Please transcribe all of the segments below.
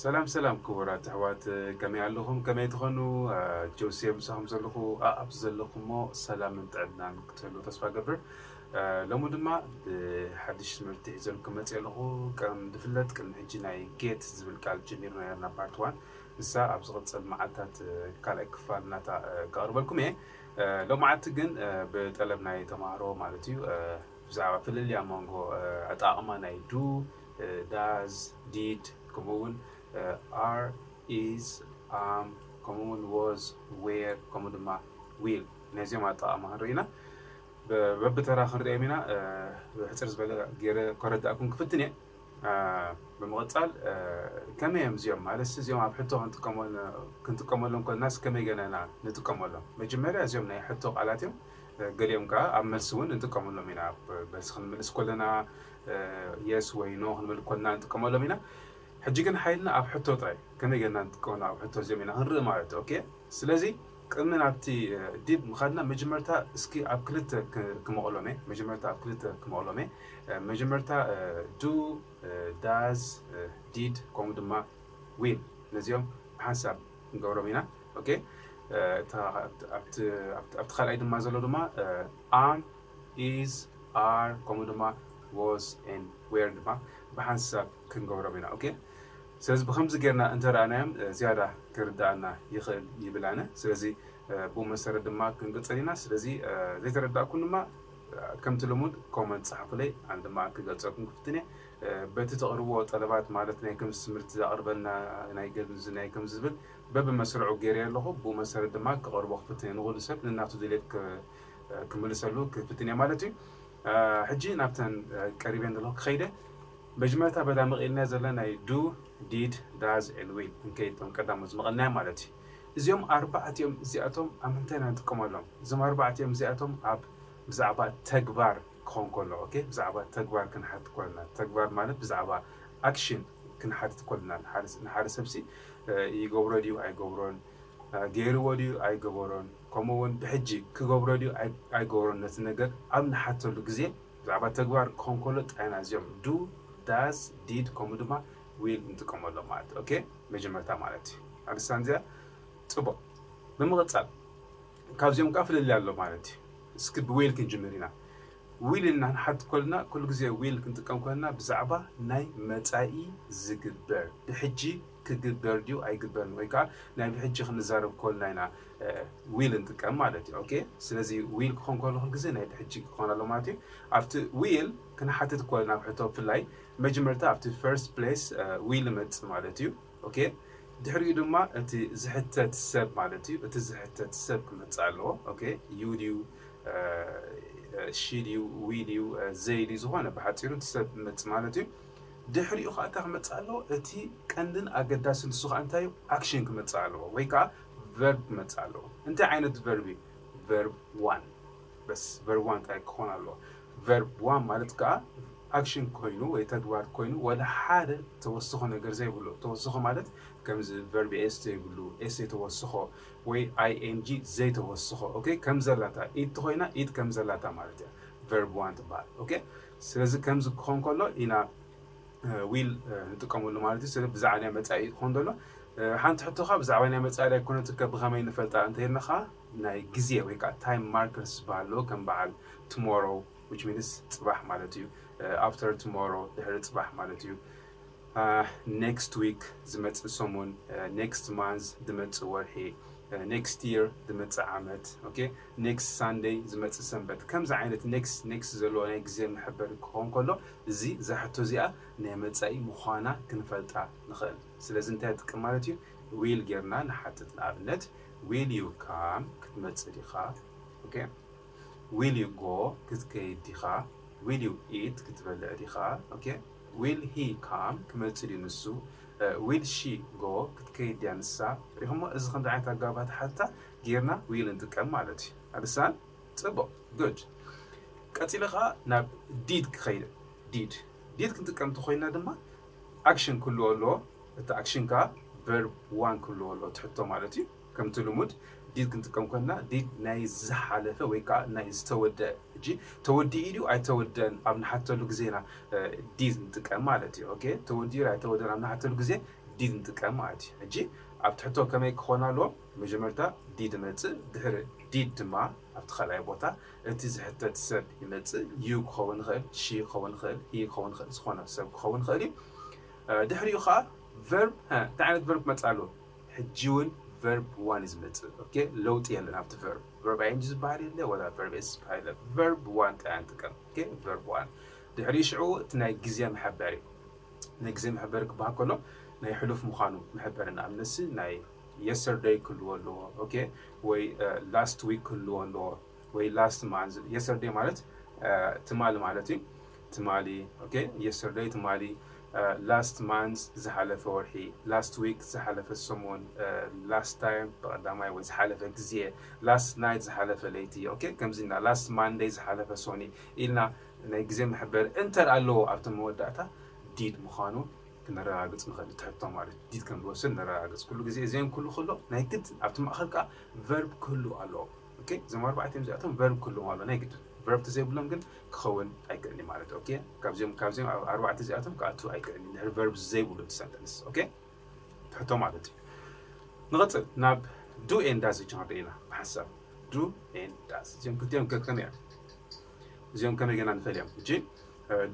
ሰላም ሰላም ክቡራት ኣሕዋት፣ ከመይ ኣለኹም? ከመይ ትኾኑ? ጆሴ ምሳኹም ዘለኹ፣ ኣብቲ ዘለኹሞ ሰላምን ጥዕናን ክትህሉ ተስፋ ገብር። ሎሚ ድማ ብሓድሽ ትምህርቲ ሒዘልኩም መፅእ ኣለኹ። ከም ዝፍለጥ ቅድሚ ሕጂ ናይ ጌት ዝብል ቃል ጀሚርና ነርና ፓርት ዋን። ንሳ ኣብ ዝቕፅል መዓልታት ካልኣይ ክፋል እናታ ከቕርበልኩም እየ። ሎማዓንቲ ግን ብጠለብ ናይ ተምሃሮ ማለት እዩ ብዛዕባ ፍልልያ መንጎ ኣጠቓቕማ ናይ ዱ፣ ዳዝ፣ ዲድ፣ ከምኡ እውን ኣር፣ ኢዝ፣ ኣም፣ ከምኡ እውን ዎዝ፣ ዌር፣ ከምኡ ድማ ዊል፣ ነዚኦም ኣጠቓቕማ ክንርኢ ኢና። በብተራ ክንሪኦም ኢና። ብሕፅር ዝበለ ገይረ ከረዳእኩም ክፍትን እየ። ብምቕፃል ከመይ እዮም እዚኦም ማለት እዚኦም ኣብ ሕቶ ክንጥቀመሎም ከለናስ ከመይ ገናና ንጥቀመሎም? መጀመርያ እዚኦም ናይ ሕቶ ቃላት እዮም። ገሊኦም ከዓ ኣብ መልሲ እውን እንጥቀመሎም ኢና። መልሲ ክንምልስ ከለና የስ ወይ ኖ ክንብል ከለና እንጥቀመሎም ኢና። ሕጂ ግን ሓይልና ኣብ ሕቶ ጥራይ ከመይ ገና ንጥቀመሎም ኣብ ሕቶ እዚኦም ኢና ክንርኢ ማለት እዩ። ኦኬ፣ ስለዚ ቅድሚ ናብቲ ዲድ ምኻድና መጀመርታ እስኪ ኣብ ክልተ ክመቕሎም እየ። መጀመርታ ኣብ ክልተ ክመቕሎም እየ። መጀመርታ ዱ፣ ዳዝ፣ ዲድ ከምኡ ድማ ዊል፣ ነዚኦም ብሓንሳብ ክንገብሮም ኢና። ኦኬ፣ ኣብቲ ካልኣይ ድማ ዘሎ ድማ ኣም፣ ኢዝ፣ ኣር ከምኡ ድማ ዎዝ ኤንድ ዌር ድማ ብሓንሳብ ክንገብሮም ኢና። ኦኬ፣ ስለዚ ብከምዚ ጌርና እንተረኣናዮም ዝያዳ ክርዳኣና ይኽእል ይብል ኣነ። ስለዚ ብኡ መሰረት ድማ ክንቅፅል ኢና። ስለዚ ዘይተረዳእኩም ድማ ከምቲ ልሙድ ኮመንት ፃሓፉለይ፣ ኣነ ድማ ክገልፀልኩም ክፍትን እየ። በቲ ተቕርቦ ጠለባት ማለት ናይ ከምዚ ትምህርቲ ዘቕርበልና ናይ ከምዚ ናይ ከምዚ ዝብል በብመስርዑ ገይረ ኣለኹ። ብኡ መሰረት ድማ ክቐርቦ ክፍትን እየ። ንኹሉ ሰብ ንናቱ ድሌት ክምልሰሉ ክፍትን እየ ማለት እዩ። ሕጂ ናብተን ቀሪበን ዘለኹ ክኸይደ መጀመርታ በዳ መቒልና ዘለና ናይ ዱ፣ ዲድ፣ ዳዝ ኤንድ ዊል ክንከይድ እቶም ቀዳሞት ዝመቐልናዮም ማለት እዩ። እዚኦም ኣርባዕቲኦም እዚኣቶም ኣብ ምንታይ ኢና ንጥቀመሎም? እዞም ኣርባዕቲኦም እዚኣቶም ኣብ ብዛዕባ ተግባር ክኾን ከሎ፣ ኦኬ፣ ብዛዕባ ተግባር ክንሓትት ከለና፣ ተግባር ማለት ብዛዕባ ኣክሽን ክንሓትት ከለና ንሓደ ሰብሲ ይገብሮ ድዩ ኣይገብሮን፣ ገይርዎ ድዩ ኣይገበሮን፣ ከምኡ እውን ብሕጂ ክገብሮ ድዩ ኣይገብሮን፣ ነቲ ነገር ኣብ ንሓተሉ ግዜ ብዛዕባ ተግባር ክኾን ከሎ ጥራይና እዚኦም ዱ፣ ዳዝ፣ ዲድ ከምኡ ድማ ዊል ንጥቀመሎም ማለት። ኦኬ፣ መጀመርታ ማለት እዩ። ኣልሳን እዚኣ ፅቡቅ። ብምቕፃል ካብዚኦም ከዓ ፍልልይ ኣሎ ማለት እዩ። እስኪ ብዊል ክንጅምር ኢና። ዊል እናንሓት ኮልና ኩሉ ግዜ ዊል ክንጥቀም ኮልና ብዛዕባ ናይ መፃኢ ዝግበር ብሕጂ ክግበር ድዩ ኣይግበርን ወይ ከዓ ናይ ብሕጂ ክንዛረብ ኮልና ኢና ዊል እንጥቀም ማለት እዩ። ኦኬ፣ ስለዚ ዊል ክኾን ከሎ ኩሉ ግዜ ናይ ብሕጂ ክኾን ኣሎ ማለት እዩ። ኣብቲ ዊል ክንሓትት ኮልና ኣብ ሕቶ ብፍላይ መጀመርታ ኣብቲ ፈርስት ፕሌስ ዊል ይመፅእ ማለት እዩ። ኦኬ፣ ድሕሪኡ ድማ እቲ ዝሕተት ሰብ ማለት እዩ። እቲ ዝሕተት ሰብ ክመፅእ ኣለዎ። ኦኬ፣ ዩ ድዩ ሺ ድዩ ዊ ድዩ ዘይ ድዩ ዝኾነ ብሓፂሩ እቲ ሰብ ክመፅእ ማለት እዩ። ድሕሪኡ ከዓ እንታይ ክመፅእ ኣለዎ? እቲ ቀንድን ኣገዳስን ንሱ ከዓ እንታይ እዩ? ኣክሽን ክመፅእ ኣለዎ ወይ ከዓ ቨርብ ክመፅእ ኣለዎ። እንታይ ዓይነት ቨርብ እዩ? ቨርብ ዋን። በስ ቨርብ ዋን ጥራይ ክኾን ኣለዎ። ቨርብ ዋን ማለት ከዓ ኣክሽን ኮይኑ ወይ ተግባር ኮይኑ ወላ ሓደ ተወስኾ ነገር ዘይብሉ። ተወስኾ ማለት ከምዚ ቨርብ ኤስ ዘይብሉ፣ ኤስ ዘይተወስኾ ወይ ኣይ ኤን ጂ ዘይተወስኾ። ኦኬ፣ ከም ዘላታ ኢድ ተኾይና ኢድ ከም ዘላታ ማለት እያ ቨርብ ዋን ትበሃል። ኦኬ፣ ስለዚ ከምዚ ክኾን ከሎ ኢና ዊል ንጥቀመሉ ማለት እዩ። ስለ ብዛዕባ ናይ መፃኢ ክኾን ዘሎ ሓንቲ ሕቶ ከዓ ብዛዕባ ናይ መፃኢ ኣይኮነትካ ብኸመይ ንፈልጣ እንተይልና ከዓ ናይ ግዜ ወይ ከዓ ታይም ማርከርስ ዝበሃል ኣለዎ። ከም በዓል ቱሞሮ which means ፅባሕ ማለት እዩ። ኣፍተር ቱሞሮ ድሕሪ ፅባሕ ማለት እዩ። ኔክስት ዊክ ዝመፅእ ሰሙን፣ ኔክስት ማንዝ ዝመፅእ ወርሒ፣ ኔክስት ይር ዝመፅእ ዓመት፣ ኦኬ፣ ኔክስት ሳንደይ ዝመፅእ ሰንበት። ከምዚ ዓይነት ኔክስት ኔክስት ዘለዎ ናይ ግዜ መሐበሪ ክኸውን ከሎ እዚ እዛ ሕቶ እዚኣ ናይ መፃኢ ምዃና ክንፈልጣ ንኽእል። ስለዚ እንታይ ይጠቅም ማለት እዩ? ዊል ጌርና ንሓትት። ንኣብነት ዊል ዩ ካም ክትመፅእ ዲኻ? ኦኬ፣ ዊል ዩ ጎ ክትከይድ ዲኻ? ዊል ዩ ኢት ክትበልዕ ዲኻ? ኦኬ፣ ዊል ሂ ካም ክመፅእ ድዩ ንሱ? ዊል ሺ ጎ ክትከይድ ድያ ንሳ? ሪኹሞ? እዚ ከምዚ ዓይነት ኣጋባት ሓታ ጌርና ዊል ንጥቀም ማለት እዩ። ኣልሳን ፅቡቅ፣ ጉድ። ቀፂለ ከዓ ናብ ዲድ ክኸይድ። ዲድ ዲድ ክንጥቀም እንተኮይና ድማ ኣክሽን ክህልዎ ኣለዎ። እቲ ኣክሽን ከዓ ቨርብ ዋን ክህልዎ ኣለዎ ትሕቶ ማለት እዩ። ከምቲ ልሙድ ዲድ ክንጥቀም ኮንና ዲድ ናይ ዝሓለፈ ወይ ከዓ ናይ ዝተወደአ፣ ሕጂ ተወዲኡ ድዩ ኣይተወደአን ኣብ ንሓተሉ ግዜና ዲድ ንጥቀም ማለት እዩ። ኦኬ፣ ተወዲኡ ኣይተወደአን ኣብ ንሓተሉ ግዜ did ንጥቀም ማለት እዩ። ሕጂ ኣብ ትሕቶ ከመይ ክኾን ኣለዎ? መጀመርታ did ይመጽእ፣ ድሕሪ did ድማ ኣብቲ ካልኣይ ቦታ እቲ ዝሕተት ሰብ ይመጽእ። You ክኸውን ይኽእል፣ she ክኸውን ይኽእል፣ he ክኸውን ይኽእል፣ ዝኾነ ሰብ ክኸውን ይኽእል እዩ። ድሕሪኡ ከዓ verb እንታይ ዓይነት verb ክመጽእ ኣለዎ? ሕጂ እውን verb one እዩ ዝመጽእ። ኦኬ፣ ለውጢ የለን ኣብቲ verb። Verb ing ዝበሃል የለ ወላ verb s ዝበሃል የለ። Verb one ጥራይ ንጥቀም። ኦኬ፣ verb one። ድሕሪኡ ሽዑ እቲ ናይ ግዜ መሐበሪ፣ ናይ ግዜ መሐበሪ ክበሃል ከሎ ናይ ሕሉፍ ምዃኑ መሐበሪ፣ ንኣብነትሲ ናይ yesterday ክህልዎ ኣለዎ። ኦኬ፣ ወይ last week ክህልዎ ኣለዎ፣ ወይ last month። Yesterday ማለት ትማሊ ማለት እዩ። ትማሊ፣ ኦኬ፣ yesterday ትማሊ፣ last month ዝሓለፈ ወርሒ፣ last week ዝሓለፈ ሰሙን፣ last time ብቐዳማይ ወይ ዝሓለፈ ግዜ፣ last night ዝሓለፈ ለይቲ። ኦኬ፣ ከምዚ ኢልና last Monday ዝሓለፈ ሰኒ ኢልና ናይ ግዜ መሐበሪ እንተር ኣለዎ ኣብቲ መወዳእታ did ምዃኑ ክነረጋግጽ ንኽእል። ትሕቶ ማለት did ከም ዝወስድ ነረጋግጽ። ኩሉ ግዜ እዚኦም ክህሉ ከሎ ናይ ግድ ኣብቲ ማእኸል ከዓ verb ክህሉ ኣለዎ። ኦኬ፣ እዞም ኣርባዕተ እዚኣቶም verb ክህልዎም ኣለዎ ናይ ግድ። Verb ተዘይብሎም ግን ክኸውን ኣይክእልን እዩ ማለት እዩ። ኦኬ፣ ካብዚኦም ካብዚኦም ኣብ ኣርባዕተ እዚኣቶም ክኣቱ ኣይክእልን እዩ ድሕሪ verb ዘይብሉ እቲ sentence። ኦኬ፣ ትሕቶ ማለት እዩ። ንቐጽል ናብ do and does ክንርኢ ኢና ብሓሳብ do and does። እዚኦም ክልቲኦም ከከም እዮም። እዚኦም ከመይ ገና ንፈልዮም። ሕጂ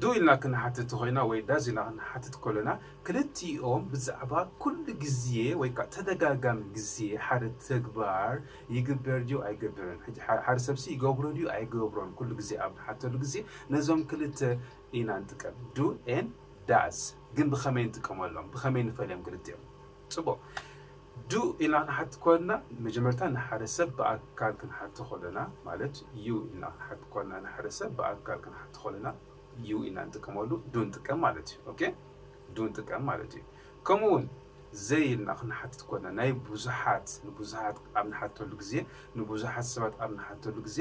do ኢልና ክንሓትት ኮይና ወይ does ኢልና ክንሓትት ከለና ክልቲኦም ብዛዕባ ኩሉ ግዜ ወይ ከዓ ተደጋጋሚ ግዜ ሓደ ተግባር ይግበር ድዩ ኣይገብርን፣ ሕጂ ሓደ ሰብሲ ይገብሮ ድዩ ኣይገብሮን ኩሉ ግዜ ኣብ ንሓተሉ ግዜ ነዞም ክልተ ኢና ንጥቀም። Do and does ግን ብኸመይ ንጥቀመሎም? ብኸመይ ንፈልዮም ክልቲኦም? ጽቡቕ። Do ኢልና ክንሓትት ከለና መጀመርታ ንሓደ ሰብ ብኣካል ክንሓቶ ከለና ማለት you ኢልና ክንሓትት ከለና ንሓደ ሰብ ብኣካል ክንሓቶ ከለና you ኢና ንጥቀመሉ፣ do ንጥቀም ማለት እዩ። ኦኬ፣ do ንጥቀም ማለት እዩ። ከምኡ እውን they ኢልና ክንሓትት ከለና ናይ ብዙሓት ንብዙሓት ኣብ ንሓተሉ ግዜ ንብዙሓት ሰባት ኣብ ንሓተሉ ግዜ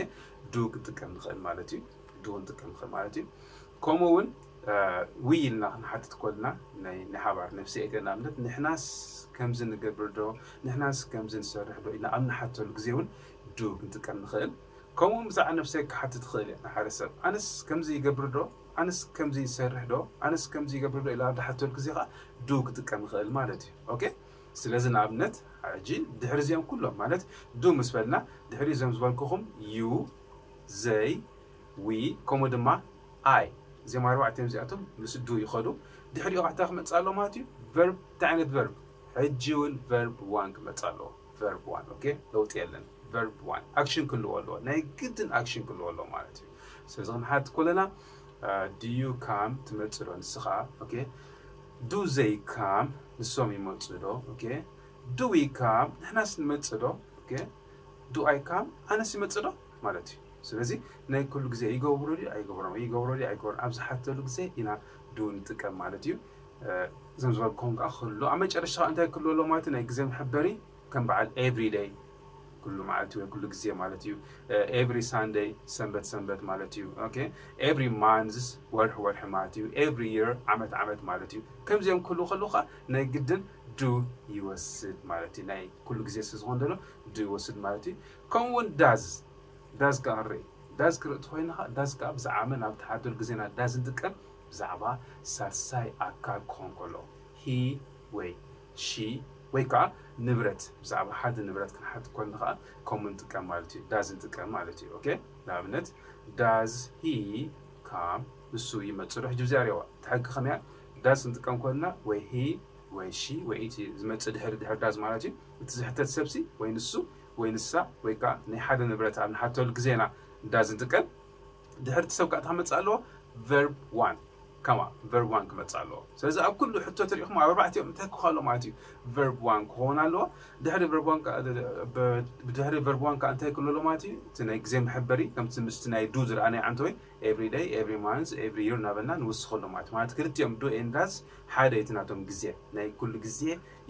do ክንጥቀም ንኽእል ማለት እዩ። Do ክንጥቀም ንኽእል ማለት እዩ። ከምኡ እውን we ኢልና ክንሓትት ከለና ናይ ሓባር ነፍሲ እተ ንኣብነት ንሕናስ ከምዚ ንገብር ዶ ንሕናስ ከምዚ ንሰርሕ ዶ ኢልና ኣብ ንሓተሉ ግዜ እውን do ክንጥቀም ንኽእል። ከምኡ እውን ብዛዕባ ነፍሰይ ክሓትት ትኽእል እየ ንሓደ ሰብ ኣነስ ከምዚ ይገብር ዶ ኣነስ ከምዚ ይሰርሕ ዶ ኣነስ ከምዚ ይገብር ዶ ኢላ ኣብ ዝሓተሉ ግዜ ከዓ do ክጥቀም ይኽእል ማለት እዩ። ኦኬ፣ ስለዚ ንኣብነት ሕጂ ድሕሪ እዚኦም ኩሎም ማለት do ምስ በልና ድሕሪ እዞም ዝበልኩኹም you they we ከምኡ ድማ I እዚኦም ኣርባዕተ እዚኣቶም ምስ do ይኸዱ። ድሕሪኡ ካሕታ ክመፅእ ኣሎ ማለት እዩ። Verb እንታይ ዓይነት verb? ሕጂ እውን verb one ክመፅእ ኣለዎ። Verb one ኦኬ፣ ለውጢ የለን። Verb one action ክልዎ ኣለዎ፣ ናይ ግድን action ክልዎ ኣለዎ ማለት እዩ። ስለዚ ክንሓት ከለና do you come ትመፅእ ዶ ንስኻ? ኦኬ፣ do they come ንሶም ይመፅእ ዶ? ኦኬ፣ do we come ንሕናስ ንመፅእ ዶ? ኦኬ፣ do I come ኣነስ ይመፅእ ዶ ማለት እዩ። ስለዚ ናይ ኩሉ ግዜ ይገብሩ ድዩ ኣይገብሮም ይገብሩ ድዩ ኣይገብሮም ኣብ ዝሓተሉ ግዜ ኢና do ንጥቀም ማለት እዩ። እዞም ዝበልኩም ከዓ ክህሉ ኣብ መጨረሻ እንታይ ክህሉ ኣሎ ማለት እዩ? ናይ ግዜ መሐበሪ ከም በዓል every day ኩሉ መዓልቲ ወይ ኩሉ ግዜ ማለት እዩ። Every Sunday ሰንበት ሰንበት ማለት እዩ። Okay፣ every month ወርሒ ወርሒ ማለት እዩ። Every year ዓመት ዓመት ማለት እዩ። ከምዚኦም ክህሉ ከለካ ናይ ግድን do ይወስድ ማለት እዩ። ናይ ኩሉ ግዜ ስለ ዝኾን ዘሎ do ይወስድ ማለት እዩ። ከምኡ እውን does does ከዓ ንርኢ። Does ክርኢ እንተኾይና ከዓ does ከዓ ብዛዕባ መን ኣብ ትሓተሉ ግዜና does ንጥቀም? ብዛዕባ ሳልሳይ ኣካል ክኾን ከሎ he ወይ she ወይ ከዓ ንብረት ብዛዕባ ሓደ ንብረት ክንሓት ከሎ ከዓ ከምኡ ንጥቀም ማለት እዩ። Does ንጥቀም ማለት እዩ። Okay፣ ንኣብነት does he come ንሱ ይመፅእ ዶ? ሕጂ ብዚኣ ሪእዋ እቲ ሕጊ ከመያ does ንጥቀም ከለና ወይ he ወይ she ወይ እቲ ዝመፅእ ድሕሪ ድሕሪ does ማለት እዩ። እቲ ዝሕተት ሰብሲ ወይ ንሱ ወይ ንሳ ወይ ከዓ ናይ ሓደ ንብረት ኣብ ንሓተሉ ግዜና does ንጥቀም። ድሕሪ እቲ ሰብ ከዓ እንታይ ክመፅእ ኣለዎ? Verb one ከማ verb one ክመፅእ ኣለዎ። ስለዚ ኣብ ኩሉ ሕቶ ትሪኢኹም ኣብ ኣርባዕቲኦም እንታይ ክኾን ኣለዎ ማለት እዩ? Verb one ክኸውን ኣለዎ። ድሕሪ verb one ከዓ ድሕሪ verb one ከዓ እንታይ ክህሉ ኣለዎ ማለት እዩ? እቲ ናይ ግዜ መሐበሪ ከምቲ ምስቲ ናይ do ዝረኣናዮ ዓንተወይ every day every month every year እናበልና ንውስኸሎም ማለት ማለት ክልቲኦም do and does ሓደ እቲ ናቶም ግዜ ናይ ኩሉ ግዜ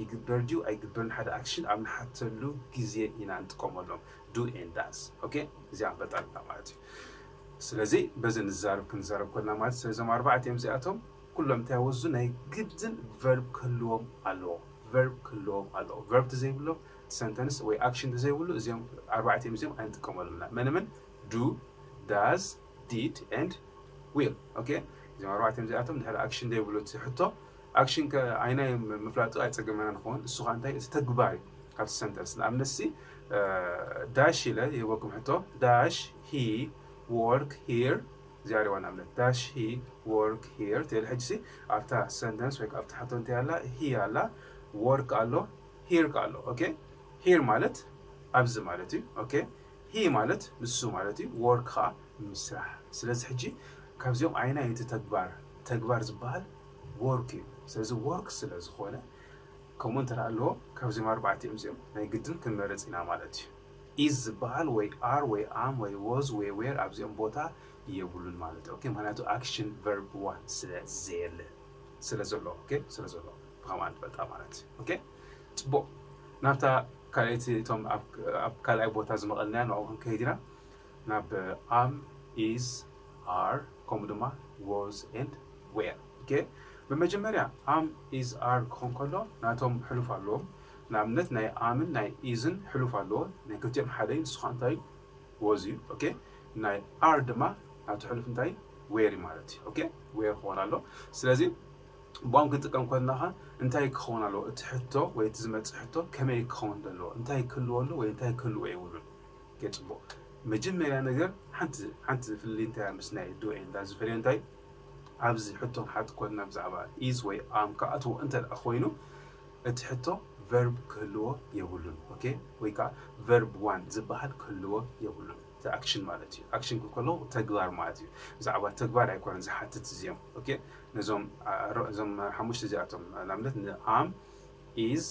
ይግበር ድዩ ኣይግበርን ሓደ action ኣብ ንሓተሉ ግዜ ኢና ንጥቀመሎም do and does። Okay፣ እዚኣ ንፈልጣ ኣለና ማለት እዩ። ስለዚ በዚ ንዛረብ ክንዛረብ ኮልና ማለት ስለዞም ኣርባዕቲኦም እዚኣቶም ኩሎም እንታይ ወዙ ናይ ግድን verb ክህልዎም ኣለዎ። Verb ክህልዎም ኣለዎ። Verb ተዘይብሎም sentence ወይ action ተዘይብሉ እዚኦም ኣርባዕቲኦም እዚኦም ኣይንጥቀመሉምና። መን መን? Do፣ does፣ did and will። Okay፣ እዚኦም ኣርባዕቲኦም እዚኣቶም ድሕሪ action ዘይብሉ እቲ ሕቶ ኣክሽን ከ ኣይናይ ምፍላጡ ኣይፀገመና ንኸውን። እሱ ከዓ እንታይ? እቲ ተግባር እዩ። ካብቲ ሰንተንስ ንኣብነት ሲ ዳሽ ኢለ ይህበኩም ሕቶ፣ ዳሽ ሂ ወርክ ሂር? እዚኣ ሪዋ ንኣብነት ዳሽ ሂ ወርክ ሂር ትብል። ሕጂ ሲ ኣብታ ሰንተንስ ወይ ኣብታ ሕቶ እንታይ ኣላ? ሂ ኣላ፣ ወርክ ኣሎ፣ ሂር ኣሎ። ኦኬ፣ ሂር ማለት ኣብዚ ማለት እዩ። ኦኬ፣ ሂ ማለት ንሱ ማለት እዩ። ወርክ ከዓ ምስራሕ። ስለዚ ሕጂ ካብዚኦም ኣይናይ እቲ ተግባር ተግባር ዝበሃል ወርክ እዩ። ስለዚ ወርክ ስለ ዝኾነ ከምኡ እንተ ኣለዎ ካብዚኦም ኣርባዕቲኦም እዚኦም ናይ ግድን ክንመርጽ ኢና ማለት እዩ። ኢዝ ዝበሃል ወይ ኣር ወይ ኣም ወይ ወዝ ወይ ዌር ኣብዚኦም ቦታ የብሉን ማለት እዩ። ኦኬ፣ ምክንያቱ ኣክሽን ቨርብ ዋን ስለ ዘየለ ስለ ዘሎ ኦኬ ስለ ዘሎ ብኸምኣ ንፈልጣ ማለት እዩ። ኦኬ፣ ጽቡቕ። ናብታ ካልኣይቲ እቶም ኣብ ካልኣይ ቦታ ዝመቐልናያ ንዕኡ ክንከይድ ኢና። ናብ ኣም፣ ኢዝ፣ ኣር ከምኡ ድማ ወዝ ኤንድ ዌር። ኦኬ፣ ብመጀመርያ ኣም፣ ኢዝ፣ ኣር ክኾን ከሎ ናቶም ሕሉፍ ኣለዎም። ንኣብነት ናይ ኣምን ናይ ኢዝን ሕሉፍ ኣለዎ። ናይ ክልቲኦም ሓደ እዩ። ንሱ ከዓ እንታይ እዩ? ወዝ እዩ። ኦኬ፣ ናይ ኣር ድማ ናቱ ሕሉፍ እንታይ? ዌር እዩ ማለት እዩ። ኦኬ፣ ዌር ክኾን ኣሎ። ስለዚ ብኦም ክንጥቀም ከለና እንታይ ክኸውን ኣለዎ? እቲ ሕቶ ወይ እቲ ዝመጽእ ሕቶ ከመይ ክኸውን ዘለዎ? እንታይ ክህልዎ ኣለዎ ወይ እንታይ ክህልዎ የብሉን? ኦኬ፣ ጽቡቕ። መጀመርያ ነገር ሓንቲ ሓንቲ ፍልልይ እንታይ ምስ ናይ ዱ ኤንድ ዳዝ ዝፈልዮ እንታይ? ኣብዚ ሕቶ ክንሓት ኮንና ብዛዕባ ኢዝ ወይ ኣም ክኣትዎ እንተ ደኣ ኮይኑ እቲ ሕቶ ቨርብ ክህልዎ የብሉን። ኦኬ፣ ወይ ከዓ ቨርብ ዋን ዝበሃል ክህልዎ የብሉን። እቲ ኣክሽን ማለት እዩ። ኣክሽን ክከሎ ተግባር ማለት እዩ። ብዛዕባ ተግባር ኣይኮነን ዝሓትት እዚኦም። ኦኬ፣ ነዞም አ- ሮ- እዞም ሓሙሽተ እዚኣቶም ንኣብነት ንኣም፣ ኢዝ፣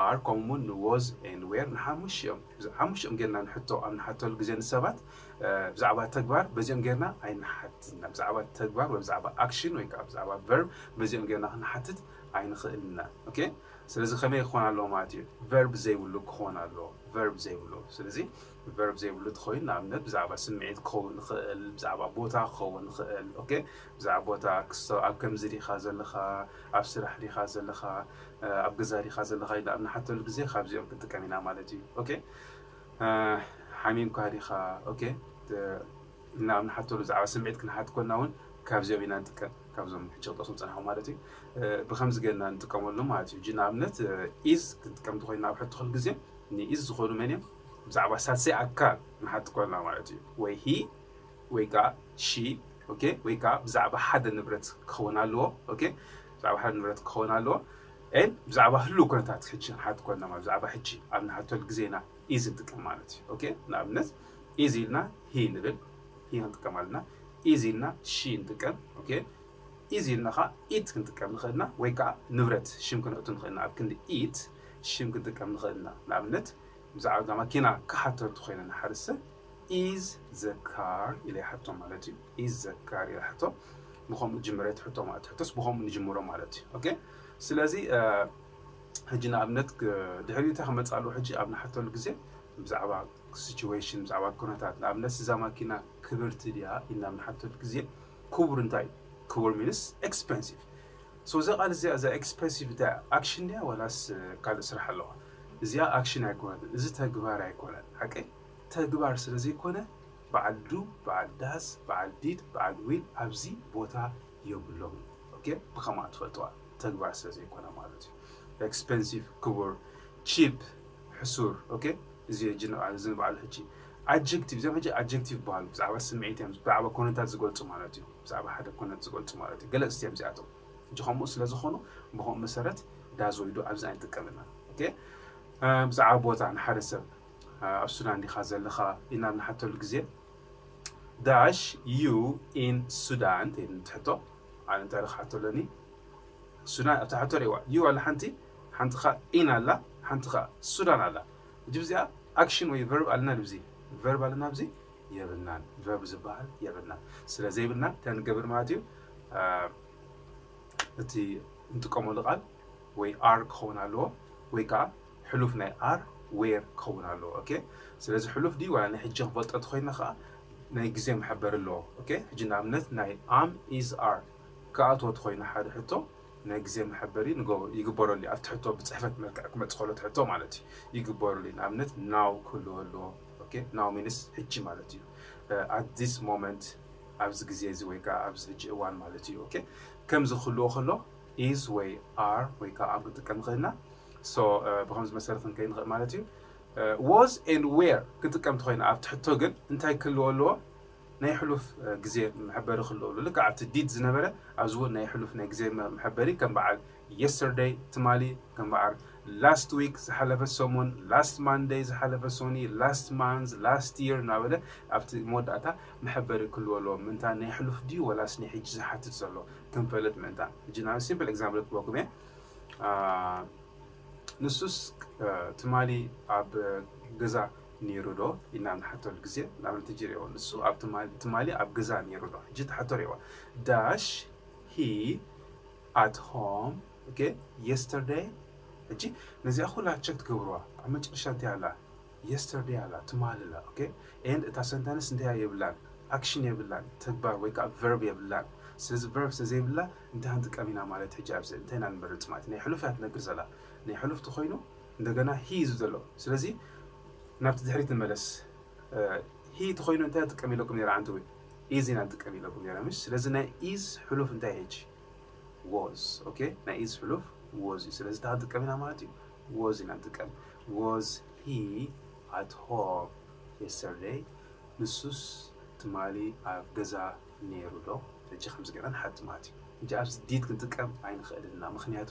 ኣር ከምኡ እውን ንወዝ ኤንድ ዌር ንሓሙሽኦም ሓሙሽኦም ጌርና ንሕቶ ኣብ ንሓተሉ ግዜ ንሰባት እ፣ ብዛዕባ ተግባር በዚኦም ጌርና ኣይንሓትትና። ብዛዕባ ተግባር ወይ ብዛዕባ ኣክሽን ወይ ከዓ ብዛዕባ ቨርብ በዚኦም ጌርና ክንሓትት ኣይንኽእልና። ኦኬ፣ ስለዚ ከመይ ክኾን ኣለዎ ማለት እዩ? ቨርብ ዘይብሉ ክኾን ኣለዎ። ቨርብ ዘይብሉ። ስለዚ ቨርብ ዘይብሉ ተኾይኑ ንኣብነት ብዛዕባ ስምዒት ክኸውን ይኽእል፣ ብዛዕባ ቦታ ክኸውን ይኽእል። ኦኬ፣ ብዛዕባ ቦታ ክስቶ ኣብ ከምዚ ዲኻ ዘለኻ፣ ኣብ ስራሕ ዲኻ ዘለኻ፣ እ፣ ኣብ ገዛ ዲኻ ዘለኻ ኢልና ኣብ ንሓተሉ ግዜ ካብዚኦም ክንጥቀም ኢና ማለት እዩ። ኦኬ፣ እ፣ ሓሚምካ ዲኻ? ኦኬ፣ እ፣ ኢልና ኣብ ንሓተሉ ብዛዕባ ስምዒት ክንሓት ኮና እውን ካብዚኦም ኢና ንጥቀም፣ ካብዞም ሕጂ ክጠቕሶም ጸናሕኩ ማለት እዩ። እ፣ ብኸምዚ ጌርና ንጥቀመሉ ማለት እዩ። ሕጂ ንኣብነት እ፣ ኢዝ ክንጥቀም እንተኾይና ኣብ ሕቶ ኩሉ ግዜ ንኢዝ ዝኾኑ መን እዮም? ብዛዕባ ሳልሳይ ኣካል ንሓት ኮና ማለት እዩ። ወይ ሂ ወይ ከዓ ሺ። ኦኬ፣ ወይ ከዓ ብዛዕባ ሓደ ንብረት ክኸውን ኣለዎ። ኦኬ፣ ብዛዕባ ሓደ ንብረት ክኸውን ኣለዎ። ኤን ብዛዕባ ህሉው ኩነታት ሕጂ ንሓት ኮና ማለት ብዛዕባ ሕጂ ኣብ ንሓተሉ ግዜ ኢና ኢዝ ንጥቀም ማለት እዩ። ኦኬ፣ ንኣብነት ኢዝ ኢልና ሂ ንብል፣ ሂ ክንጥቀም ኣለና። ኢዝ ኢልና ሺ ንጥቀም። ኦኬ፣ ኢዝ ኢልና ከዓ ኢት ክንጥቀም ንኽእል ኢና፣ ወይ ከዓ ንብረት ሽም ክነእቱ ንኽእል ኢና። ኣብ ክንዲ ኢት ሽም ክንጥቀም ንኽእል ኢና። ንኣብነት ብዛዕባ እዛ ማኪና ክሓተቱ ኮይነ ንሓደ ሰብ ኢዝ ዘ ካር ኢለ ይሓቶ ማለት እዩ። ኢዝ ዘ ካር ኢለ ይሓቶ። ብኸምኡ ጅምረ እቲ ሕቶ ማለት ሕቶስ ብኸምኡ ንጅምሮ ማለት እዩ። ኦኬ፣ ስለዚ እ፣ ሕጂ ንኣብነት ክ- ድሕሪኡ እንታይ ክመፅእ ኣለዎ? ሕጂ ኣብ ንሓተሉ ግዜ ብዛዕባ ሲቹዌሽን፣ ብዛዕባ ኩነታት፣ ንኣብነት እዛ ማኪና ክብርቲ ድያ ኢልና ኣብ ንሓተሉ ግዜ ክቡር እንታይ እዩ? ክቡር ሚንስ ኤክስፐንሲቭ። ሶ እዛ ቃል እዚኣ እዛ ኤክስፐንሲቭ እንታይ ኣክሽን ድያ ዋላስ እ፣ ካልእ ስራሕ ኣለዋ? እዚኣ ኣክሽን ኣይኮነትን፣ እዚ ተግባር ኣይኮነን። ሓቀይ ተግባር ስለ ዘይኮነ በዓል ዱ፣ በዓል ዳዝ፣ በዓል ዲድ፣ በዓል ዊል ኣብዚ ቦታ የብሎም። ኦኬ፣ ብኸምኣ ትፈልጥዋ ተግባር ስለ ዘይኮነ ማለት እዩ። ኤክስፐንሲቭ ክቡር፣ ቺፕ ሕሱር። ኦኬ፣ እዚ ሕጂ ንብዓል እዚ ንብዓሉ ሕጂ ኣጀክቲቭ፣ እዚኦም ሕጂ ኣጀክቲቭ ይበሃሉ። ብዛዕባ ስምዒት እዮም፣ ብዛዕባ ኮነታት ዝገልጹ ማለት እዩ። ብዛዕባ ሓደ ኮነት ዝገልጹ ማለት እዩ። ገለጽቲ እዮም እዚኣቶም። ሕጂ ከምኡ ስለ ዝኾኑ ብኸምኡ መሰረት ዳዝ ወይ ዱ ኣብዚ ኣይንጥቀምና። ኦኬ፣ እ፣ ብዛዕባ ቦታ ንሓደ ሰብ እ፣ ኣብ ሱዳን ዲኻ ዘለኻ ኢልና ንሓተሉ ግዜ ዳሽ ዩ ኢን ሱዳን ትብል ትሕቶ። ኣነ እንታይ ኢለ ክሓቶ ኣለኒ? ሱዳን ኣብታ ሕቶ ርእዋ ዩ ኣላ ሓንቲ፣ ሓንቲ ኸኣ ኢን ኣላ፣ ሓንቲ ኸኣ ሱዳን ኣላ። ሕጂ ብዚኣ ኣክሽን ወይ ቨርብ ኣለና ድብዚ? ቨርብ ኣለና ብዚ? የብልናን። ቨርብ ዝበሃል የብልናን። ስለ ዘይብልና እንታይ ንገብር ማለት እዩ? እ፣ እቲ እንጥቀመሉ ቃል ወይ ኣር ክኸውን ኣለዎ ወይ ከዓ ሕሉፍ ናይ ኣር ዌር ክኸውን ኣለዎ። ኦኬ፣ ስለዚ ሕሉፍ ድዩ ዋላ ናይ ሕጂ ክንፈልጦ ተኾይና ከዓ ናይ ግዜ መሐበሪ ኣለዎ። ኦኬ፣ ሕጂ ንኣብነት ናይ ኣም ኢዝ ኣር ክኣትዎ ተኾይኑ ሓደ ሕቶ ናይ ግዜ መሐበሪ ንገ- ይግበረሉ እዩ። ኣብቲ ሕቶ ብፅሕፈት መልክዕ ክመፅእ ከሎ እቲ ሕቶ ማለት እዩ ይግበረሉ እዩ። ንኣብነት ናው ክህልዎ ኣለዎ። ኦኬ፣ ናው ሚንስ ሕጂ ማለት እዩ። ኣት ዚስ ሞመንት ኣብዚ ግዜ እዚ ወይ ከዓ ኣብዚ ሕጂ እዋን ማለት እዩ። ኦኬ፣ ከምዚ ክህልዎ ከሎ is ወይ are ወይ ከዓ am ክንጥቀም ንኽእል ኢና። So ብከምዚ መሰረት ክንከይድ ንኽእል ማለት እዩ። Was and were ክንጥቀም እንተኾይና ኣብቲ ሕቶ ግን እንታይ ክህልዎ ኣለዎ? ናይ ሕሉፍ ግዜ መሐበሪ ክህልዎ ኣለዎ። ልክዕ ኣብቲ did ዝነበረ ኣብዚ እውን ናይ ሕሉፍ ናይ ግዜ መሐበሪ ከም በዓል yesterday ትማሊ፣ ከም በዓል last week ዝሓለፈ ሰሙን፣ last Monday ዝሓለፈ ሶኒ፣ last month፣ last year እናበለ ኣብቲ መወዳእታ መሐበሪ ክህልዎ ኣለዎ። ምእንታ ናይ ሕሉፍ ድዩ ወላስ ናይ ሕጂ ዝሓትት ዘሎ ክንፈልጥ ምእንታ። ሕጂ ናብ simple example ክበኩም እየ። ንሱስ ትማሊ ኣብ ገዛ ነይሩ ዶ ኢልና ንሓተሉ ግዜ ንኣብነት ሕጂ ርእዎ። ንሱ ኣብ ትማሊ ኣብ ገዛ ነይሩ ዶ? ሕጂ ትሓቶ ርእዎ። Dash he at home okay yesterday? ሕጂ ነዚኣ ኩላ ቸክ ትገብርዋ ኣብ መጨረሻ እንታይ ኣላ? Yesterday ኣላ፣ ትማሊ ኣላ። Okay and እታ ሰንተንስ እንታይ የብላን? ኣክሽን የብላን፣ ተግባር ወይ ከዓ ቨርብ የብላን። ስለዚ ቨርብ ስለዘይብላ እንታይ ክንጥቀም ኢና ማለት ሕጂ ኣብዚ እንታይ ኢና ንመርፅ ማለት ናይ ሕሉፍ እያ ትነግር ዘላ። ናይ ሕሉፍ ተኮይኑ እንደገና he እዩ ዘሎ። ስለዚ ናብቲ ድሕሪት ንመለስ። He ተኮይኑ እንታይ ጥቀም ኢለኩም ነይረ? ዓንተወይ is ኢና ንጥቀም ኢለኩም ነይረ ምሽ። ስለዚ ናይ is ሕሉፍ እንታይ ሕጂ? Was okay ናይ is ሕሉፍ was እዩ። ስለዚ እንታይ ክንጥቀም ኢና ማለት እዩ? Was ኢና ንጥቀም። Was he at home yesterday? ንሱስ ትማሊ ኣብ ገዛ ነይሩ ዶ? ሕጂ ከምዚ ገይርና ንሓቲ ማለት እዩ። ሕጂ ኣብዚ did ክንጥቀም ኣይንኽእልን ኢና፣ ምኽንያቱ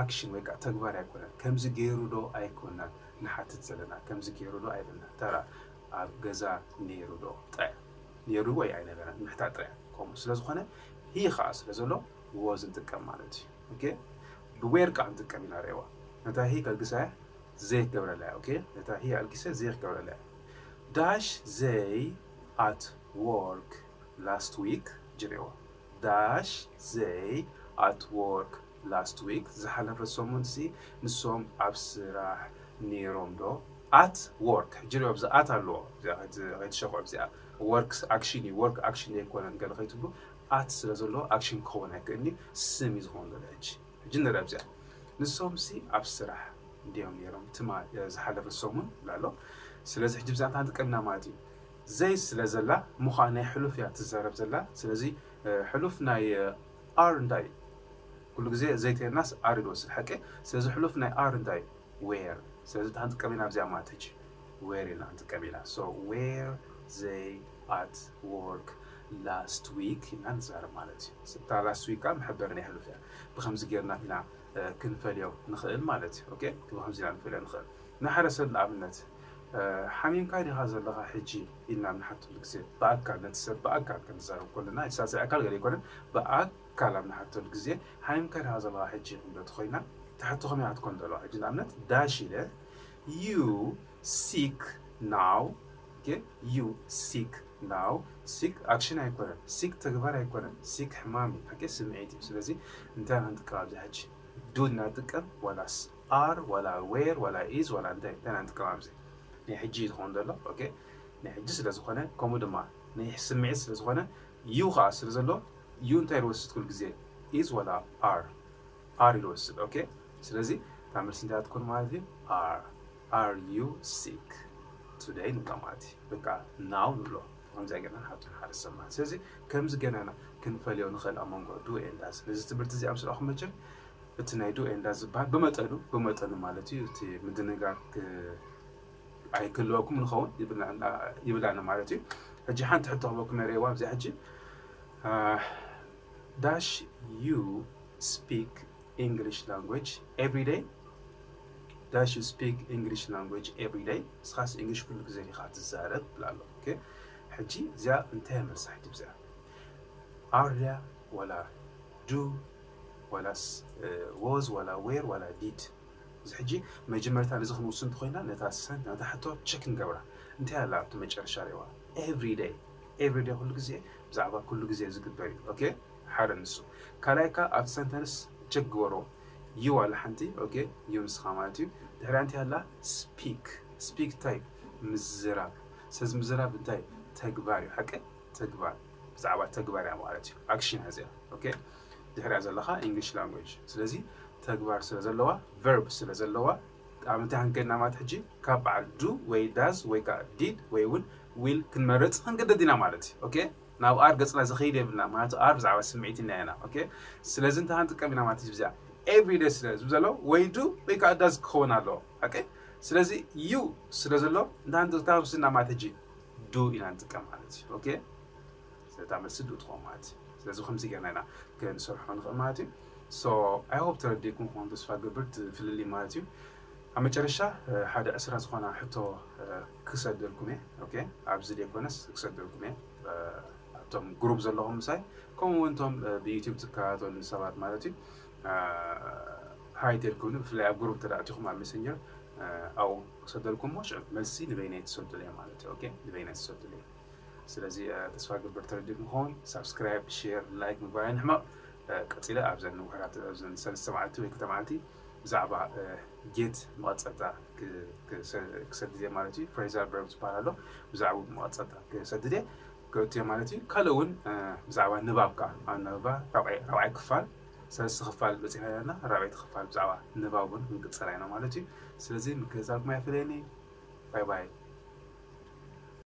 ኣክሽን ወይ ከዓ ተግባር ኣይኮነን። ከምዚ ገይሩ ዶ ኣይኮናን ንሓትት ዘለና፣ ከምዚ ገይሩ ዶ ኣይብልና። ተራ ኣብ ገዛ ነይሩ ዶ ጥራይ፣ ነይሩ ወይ ኣይነበረን ምሕታት ጥራይ። ከምኡ ስለ ዝኾነ he ከዓ ስለ ዘሎ was ንጥቀም ማለት እዩ። Okay ብ were ከዓ ንጥቀም ኢና። ርእይዋ፣ ነታ he ከልግሳ እያ፣ they ክገብረላ እያ። Okay ነታ he ኣልጊሰ they ክገብረላ እያ። Dash they at work last week? ሕጂ ርእይዋ፣ dash they at work last week? ዝሓለፈ ሰሙን ሲ ንሶም ኣብ ስራሕ ነይሮም ዶ? At work ሕጂ ርእይዋ፣ ኣብዚ at ኣለዎ፣ እዚኣ ከይት- ከይትሸኽዖ። እዚኣ ወርክ ኣክሽን እዩ፣ ወርክ ኣክሽን ኣይኮነን ገለ ከይትብሉ። At ስለ ዘለዎ ኣክሽን ክኸውን ኣይክእልን እዩ፣ ስም እዩ ዝኸውን ዘሎ። ሕጂ ሕጂ ንርአ ኣብዚኣ፣ ንሶም ሲ ኣብ ስራሕ እንዲዮም ነይሮም ትማ ዝሓለፈ ሰሙን ብላ ኣሎ። ስለዚ ሕጂ ብዛዕባ እንታይ ንጥቀም ኢና ማለት እዩ? They ስለ ዘላ ምዃን ናይ ሕሉፍ እያ ትዛረብ ዘላ። ስለዚ ሕሉፍ ናይ are እንታይ እዩ? ኩሉ ግዜ they ተይልናስ are እዩ ዝወስድ ሓቂ። ስለዚ ሕሉፍ ናይ are እንታይ እዩ? Were። ስለዚ እንታይ ንጥቀም ኢና ኣብዚኣ ማለት ሕጂ? Were ኢልና ንጥቀም ኢና። So were they at work last week ኢልና ንዛረብ ማለት እዩ። እታ last week ከዓ መሐበሪ ናይ ሕሉፍ እያ። ብከምዚ ጌርና ኢና ክንፈልዮ ንኽእል ማለት እዩ። Okay ብከምዚ ኢና ንፈልዮ ንኽእል። ንሓደ ሰብ ንኣብነት ሓሚምካ ዲኻ ዘለኻ ሕጂ ኢልና ኣብ ንሓተሉ ግዜ ብኣካል ነቲ ሰብ ብኣካል ክንዛረብ ከለና ሳልሳይ ኣካል ገለ ኣይኮነን ብኣካል ኣብ ንሓተሉ ግዜ ሓሚምካ ዲኻ ዘለኻ ሕጂ ክንዶ ተኾይና ትሕቶ ከመይ ክትኮን ዘለዋ? ሕጂ ንኣብነት dash ኢለ you sick now okay you sick now sick ኣክሽን ኣይኮነን። Sick ተግባር ኣይኮነን። Sick ሕማም እዩ። Okay ስምዒት እዩ። ስለዚ እንታይ ኢና ንጥቀም ኣብዚ ሕጂ? Do ኢና ንጥቀም ዋላስ are ዋላ were ዋላ is ዋላ እንታይ እንታይ ኢና ንጥቀም ኣብዚ? ናይ ሕጂ እዩ ዝኸውን ዘሎ። Okay ናይ ሕጂ ስለ ዝኾነ ከምኡ ድማ ናይ ስምዒት ስለ ዝኾነ you ከዓ ስለ ዘሎ you እንታይ ይወስድ ኩሉ ግዜ? Is ዋላ are? Are ይወስድ። Okay ስለዚ እታ መልሲ እንታይ ትኮን ማለት እዩ? Are are you sick today ንብሎ ማለት እዩ። በቃ now ንብሎ። ከምዚኣ ጌርና ንሓቶ ንሓደ ሰብ ማለት። ስለዚ ከምዚ ጌርና ኢና ክንፈልዮ ንኽእል ኣብ መንጎ do and does። ነዚ ትምህርቲ እዚ ኣብ ስራኹም መቸም እቲ ናይ do and does ዝበሃል ብመጠኑ ብመጠኑ ማለት እዩ። እቲ ምድንጋር ክ- ኣይክህልወኩም ንኸውን ይብላና ይብላና ማለት እዩ። ሕጂ ሓንቲ ሕቶ ክበኩም የርእየዋ ኣብዚ ሕጂ dash you speak English language every day? Dash you speak English language every day? ንስኻስ እንግሊሽ ኩሉ ግዜ ዲኻ ትዛረብ ብላ ኣሎ። Okay ሕጂ እዚኣ እንታይ መልሳ ሕጂ ብዚኣ? Are ድያ ዋላ do ዋላስ was ዋላ were ዋላ did? እዚ ሕጂ መጀመርታ ነዚ ክንውስን እንተኮይና ነታ ሰን ነታ ሕቶ ቸክ ንገብራ። እንታይ ኣላ ኣብቲ መጨረሻ ርእዋ? Every day። Every day ኩሉ ግዜ ብዛዕባ ኩሉ ግዜ ዝግበር እዩ። Okay ሓደ ንሱ። ካልኣይ ከ ኣብቲ ሰንተንስ ቸክ ግበሮ። You ኣላ ሓንቲ። Okay you ንስኻ ማለት እዩ። ድሕሪያ እንታይ ኣላ? Speak። Speak እንታይ? ምዝራብ። ስለዚ ምዝራብ እንታይ? ተግባር እዩ። ሓቂ ተግባር ብዛዕባ ተግባር እያ ማለት እዩ። ኣክሽን እያ እዚኣ። Okay ድሕሪያ ዘለኻ English language። ስለዚ ተግባር ስለ ዘለዋ ቨርብ ስለ ዘለዋ ኣብ እንታይ ክንከድና ማለት ሕጂ ካብ በዓል do ወይ does ወይ ከዓ did ወይ እውን will ክንመርፅ ክንግደድ ኢና ማለት እዩ። Okay ናብ are ገፅና ዝኸይድ የብልና ማለት are ብዛዕባ ስምዒት ኢና ኢና okay ስለዚ እንታይ ክንጥቀም ኢና ማለት እዩ ብዚኣ everyday ስለ ዝብል ዘሎ ወይ do ወይ ከዓ does ክኸውን ኣለዎ okay ስለዚ you ስለ ዘሎ እንታይ ክንጥቀም ስና ማለት ሕጂ do ኢና ንጥቀም ማለት እዩ okay ስለታ መልሲ do ትኸውን ማለት እዩ ስለዚ ከምዚ ጌርና ኢና ክንሰርሖ ንኽእል ማለት እዩ so I hope ተረዲእኩም ክኾን ተስፋ ገብር ፍልልይ ማለት እዩ ኣብ መጨረሻ ሓደ ዕስራ ዝኾና ሕቶ ክሰደልኩም እየ okay ኣብዚ ዘይኮነስ ክሰደልኩም እየ ኣብቶም ግሩፕ ዘለኹም ምሳይ ከምኡ እውን እቶም ብዩቲብ ዝከታተሉ ሰባት ማለት እዩ ሃይ ተልኩኒ ብፍላይ ኣብ ግሩፕ ተዳእቲኹም ኣብ ሜሰንጀር ኣብኡ ክሰደልኩም ሞ ሽዑ መልሲ ንበይነይ ትሰዱለይ ማለት እዩ okay ንበይነይ ትሰዱለይ ስለዚ ተስፋ ግብር ተረዲእኩም ክኸውን ሳብስክራይብ ሼር ላይክ ምግባር ኣይንሕመቕ ቀፂለ ኣብዘን ውሕዳት ኣብዘን ሰለስተ መዓልቲ ወይ ክልተ መዓልቲ ብዛዕባ ጌት መቐፀልታ ክሰድድ እየ ማለት እዩ ፍሬዛል ቨርብ ዝበሃል ኣሎ ብዛዕባ መቐፀልታ ክሰድድ እየ ክእቱ እየ ማለት እዩ ካልእ እውን ብዛዕባ ንባብ ከዓ ኣብ ንባብ ራብዓይ ክፋል ሰለስተ ክፋል በፂሕና ዘለና ራብዓይቲ ክፋል ብዛዕባ ንባብ እውን ክንቅፅላ ኢና ማለት እዩ ስለዚ ምክትታልኩም ኣይፈለየኒ ባይ ባይ